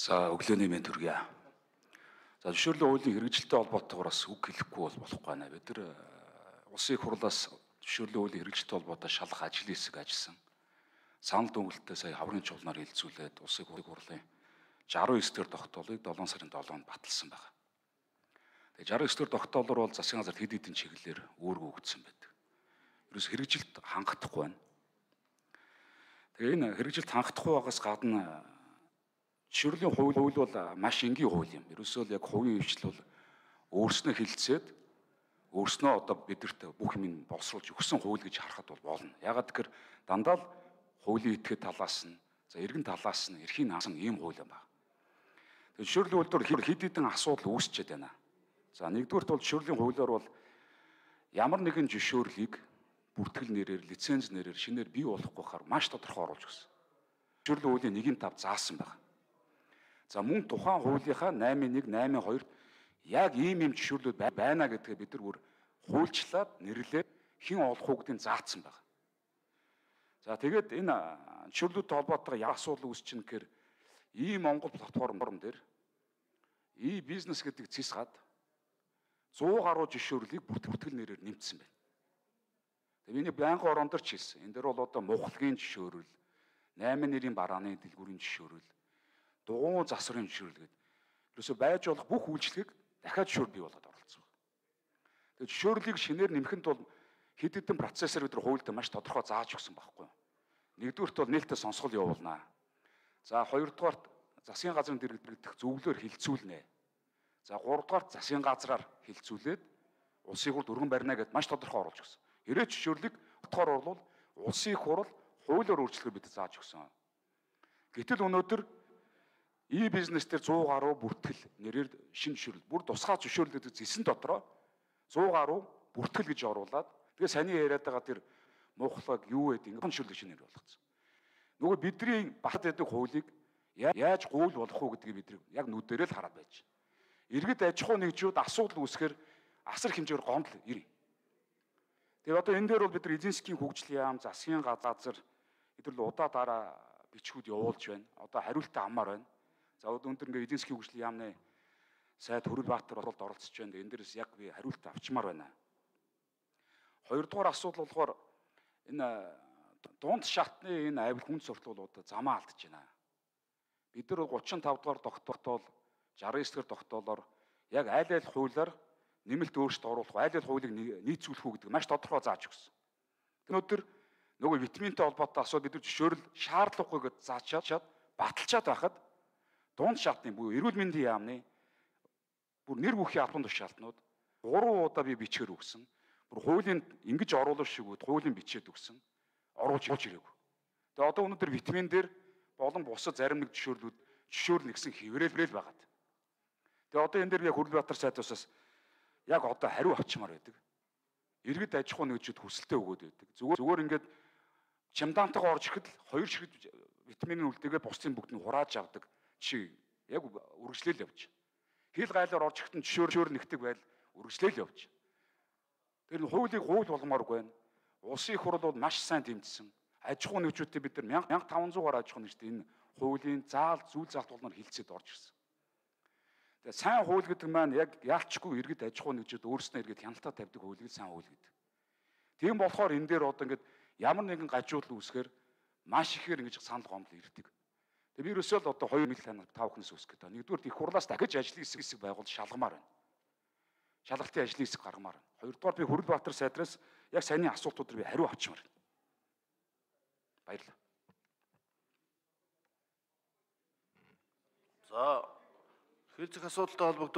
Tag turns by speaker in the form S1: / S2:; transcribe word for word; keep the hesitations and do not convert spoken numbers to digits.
S1: За өглөөний мэнд хүргье. За зөвшөөрлөө хуулийн хэрэгжилтэй холбоотойгоор бас үг хэлэхгүй бол болохгүй байна. Бид нар улсын их хурлаас зөвшөөрлөө хуулийн хэрэгжилтэй холбоотой шалгах ажлын хэсэг ажилласан. Санал дүгнэлтээ сая хаврын чуулганаар хилцүүлээд улсын их хурлын жаруу эс дэх тогтоолыг долоон сарын долоонд баталсан байна. Тэгээ жаруу эс дэх тогтоолоор бол засгийн газарт хэд хэдэн чиглэлээр өөргөө өгсөн байдаг. Ерөөс хэрэгжилт хангахгүй байна. Тэгээ энэ хэрэгжилт хангахгүй байгаас гадна зөвшөөрлийн хууль хууль бол маш энгийн хууль юм. Ерөөсөө л яг хувийн хвшил бол өөрснөө хилцээд өөрснөө одоо бидэрт бүх юм боловсруулж өгсөн хууль гэж харахад бол болно. Ягаад гэхээр дандаа л хуулийн этгээд талаас нь, за эргэн талаас нь эрхийн наасан ийм хууль юм байна. Тэгээ зөвшөөрлийн хуулиар хэд хэдэн асуудал үүсчихэд байна. За нэгдүгürt бол зөвшөөрлийн хуулиар бол ямар нэгэн зөвшөөрлийг бүртгэл нэрээр, лиценз нэрээр шинээр бий болохгүй хаар маш тодорхой оруулж өгсөн. Зөвшөөрлийн хуулийн нэгэн тав заасан байна. За мөн тухайн хуулийнхаа наймын нэг, наймын хоёрт яг ийм ийм зөвшөөрлүүд байна гэдгээ бид нар бүр хуульчлаад нэрлээд хэн олох уу гэдгийг заасан байна. За тэгээд энэ зөвшөөрлүүдтэй холбоотой ямар асуудал үүсч чинь гэхээр ийм Монгол платформ дээр и бизнес гэдэг цэс гад сто гаруй зөвшөөрлийг бүртгэл нэрээр нэмсэн байна. Тэгээд миний байнгын орондор ч хэлсэн. Энэ дээр бол одоо мухлагийн зөвшөөрөл, наймын нэрийн барааны дэлгүүрийн зөвшөөрөл, дугуйн засварын зөвшөөрөл гэдэг. Ерөөсөө байж болох бүх үйлчлэгийг дахиад зөвшөөр бий болгоод оролцсон. Тэгээд зөвшөөрлийг шинээр нэмэхэд бол хэд хэдэн процессор бид нар хуультай маш тодорхой зааж өгсөн байхгүй юу. Нэгдүгürt бол нээлттэй сонсгол явуулнаа. За хоёрдугаарт засгийн газрын дэргэдэх зөвлөөр хилцүүлнэ. За гуравдугаарт засгийн газраар хилцүүлээд улсын хурд өргөн барина гэдээ маш тодорхой оруулж өгсөн. Ирээч зөвшөөрлийг утгаар бол улсын их хурл хуулиар өөрчлөхөөр бид зааж өгсөн. Гэтэл өнөөдөр и бизнес дээр сто гаруй бүртгэл нэрээр шинэ зөвшөөрөл, бүр тусгай зөвшөөрлөд зэсэн дотроо сто гаруй бүртгэл гэж оруулаад тэгээ саний яриад байгаа тэр мухлаг юу гэдэг ингэ зөвшөөрлөг шинээр болгоцсон. Нөгөө бидний бат гэдэг хуулийг яаж гуйл болох уу гэдгийг бид яг нүдэрээ л хараад байж. Иргэд аж ахуй нэгжүүд асуудал үүсгэхээр асар хэмжээгээр гомдол ирнэ. Тэгээ одоо энэ дээр бол бид нар эзэн засгийн хөгжлийн яам, засгийн газар эдгээр л удаа дараа бичгүүд явуулж байна. Одоо хариултаа аммаар байна. За одоо өндөр ингээ эзэн засгийн хөгжлийн яамны сайд Хөрөлбаатар болоод оролцож байна. Энэ дээрээс яг би хариулт авчмаар байна. Хоёрдугаар асуудал болохоор энэ дунд шатны энэ авил хүн сурталчилгууд замаа алдж байна. Бид нар гучин тав дугаар тогтоол, жарган эс дэх тогтоолоор яг аль аль хуулиар нэмэлт өөрчлөлт оруулах, аль аль хуулийг нийцүүлэх үү гэдэг маш тодорхой зааж өгсөн. Өнөөдөр нөгөө витаминтай холбоотой асуудал бид нар зөвшөөрөл шаардлагагүй гэж заачаад баталчаад байхад дунд шатны буюу эрүүл мэндийн яамны бүр нэр бүхий албан тушаалтнууд гурван удаа би бичгээр өгсөн. Бүр хуулийн ингэж оруулах шигүүд хуулийн бичээд өгсөн. Оруулж ирээгүй. Тэгээ одоо өнөөдөр витамин дээр болон бусад зарим нэг зөвшөөрлүүд зөвшөөрөл нэгсэн хэврээлбэрэл байгаад. Тэгээ одоо энэ дээр яг Хөрөлбаатар сайдаас яг одоо хариу авчмаар байдаг. Иргэд аж ахуй нэгжүүд хүсэлтээ өгөөд байдаг. Зүгээр зүгээр ингээд чемдантайгаа орж ирэхэд хоёр ширхэг витамины үлдээгээ бусдын бүгд нь хурааж авдаг. Чи яг үргэлжлээл явж. Хил гайлаар орж ирэхэд зөвшөөр нэгдэг байл үргэлжлээл явж. Тэр нь хуулийг хууль болгомооргүй байна. Улсын их хурл бол маш сайн тэмцсэн. Аж ахуй нэгжүүдтэй бид нар мянга таван зуугаар аж ахуй нэгжтэй энэ хуулийн заал зүйл заалт болноор хилцээд орж ирсэн. Тэгээ сайн хууль гэдэг маань яг яалчгүй иргэд аж ахуй нэгжүүд өөрснөө иргэд хяналтаа тавьдаг хуулийг сайн хууль гэдэг. Тийм болохоор энэ дээр одоо ингээд ямар нэгэн гажуудал үүсгээр маш ихээр ингэж санал гомдол ирдэг. Тэгээ би ерөөсөө л одоо хоёр мэл танаар тав хүнээс үсэх гэдэг. Нэгдүгээр их хурлаас дахиж ажлын хэсэг хэсэг байгуул шалгамаар байна. Шалгалтын ажлын хэсэг гаргамаар байна. Хоёрдугаар би Хөрөлбаатар сайдраас яг саяны асуултуудаар би хариу авчмаар байна. Баярлалаа.
S2: За, хэлцэх асуудалтай холбогдсон